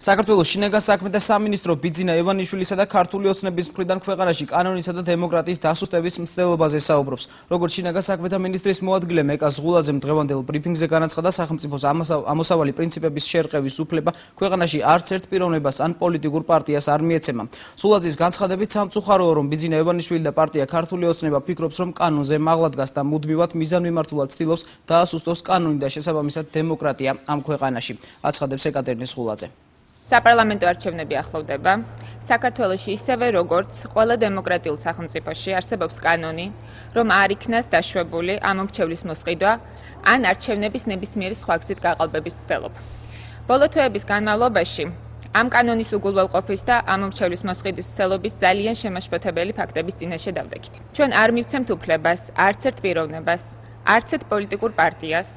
საქართველოს შინაგან საქმეთა სამინისტრო ბიძინა ევანიშვილისა და ქართული ოცნების მხრიდან ქვეყანაში კანონისა და დემოკრატიის დასუსტების მცდელობაზე საუბრობს. Როგორც შინაგან საქმეთა მინისტრის მოადგილე მეკა ზღულაძემ დღევანდელ ბრიფინგზე განაცხადა, სახელმწიფოს ამოსავალი პრინციპების შერყევის უფლება ქვეყანაში არც ერთ პიროვნებას ან პოლიტიკურ პარტიას არ მიეცემა. ზღულაძის განცხადებით სამწუხაროა, რომ ბიძინა ევანიშვილი და პარტია ქართული ოცნება ფიქრობს, რომ კანონზე მაღლა დგას და მუდმივად მიზანმიმართულად ცდილობს დაასუსტოს კანონი და შესაბამისად დემოკრატია ამ ქვეყანაში. აცხადებს ეკატერინე ზღულაძე. საპარლამენტო არჩევნები ახლოვდება. საქართველოში ისევე როგორც ყველა დემოკრატიულ სახელმწიფოში არსებობს კანონი, რომ არ იქნას დაშვებული ამომრჩევლის მოსყიდვა ან არჩევნების ნებისმიერი სხვა გზით გაყალბების ცდილობა. ბოლო თვეების განმავლობაში ამ კანონის უგულველყოფის და ამომრჩევლის მოსყიდვის ცდილობის ძალიან შემაშფოთებელი ფაქტების წინაშე დავდექით. ჩვენ არ მივცემთ უფლებას არც ერთ პიროვნებას, არც ერთ პოლიტიკურ პარტიას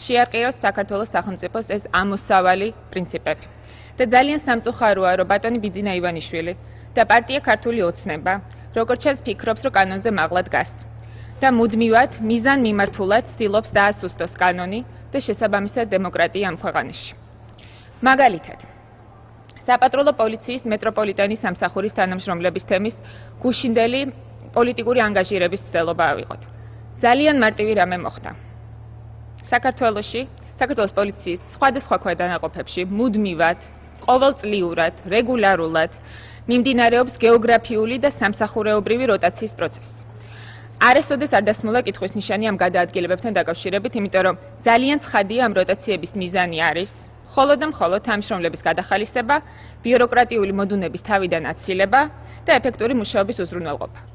შეარყიოს საქართველოს სახელმწიფოს ეს ამოსავალი პრინციპები. და ძალიან სამწუხაროა, რომ ბატონი ბიძინა ივანიშვილი და პარტია ქართული ოცნება, როგორც ჩანს, ფიქრობს, რომ კანონზე მაღლა დგას და მუდმივად მიზანმიმართულად ცდილობს დაასუსტოს კანონი და შესაბამისად დემოკრატია ამ ქვეყანაში. მაგალითად, საპატრულო პოლიციის მეტროპოლიტენის სამსახურის თანამშრომლების თემის გუშინდელი პოლიტიკური ანგაჟირების ცდილობა ავიღოთ. ძალიან მარტივი რამე მოხდა. საქართველოს პოლიციის სხვადასხვა ქვედანაყოფებში მუდმივად ყოველწლიურად, რეგულარულად მიმდინარეობს გეოგრაფიული და სამსახურეობრივი როტაციის პროცესი. არასოდეს არ დასმულა კითხვის ნიშანი ამ გადაადგილებებთან დაკავშირებით, იმიტომ რომ ძალიან ცხადია ამ როტაციების მიზანი არის მხოლოდ და მხოლოდ თანამშრომლების გადახალისება, ბიუროკრატიული მოდუნების თავიდან აცილება და ეფექტური მუშაობის უზრუნველყოფა.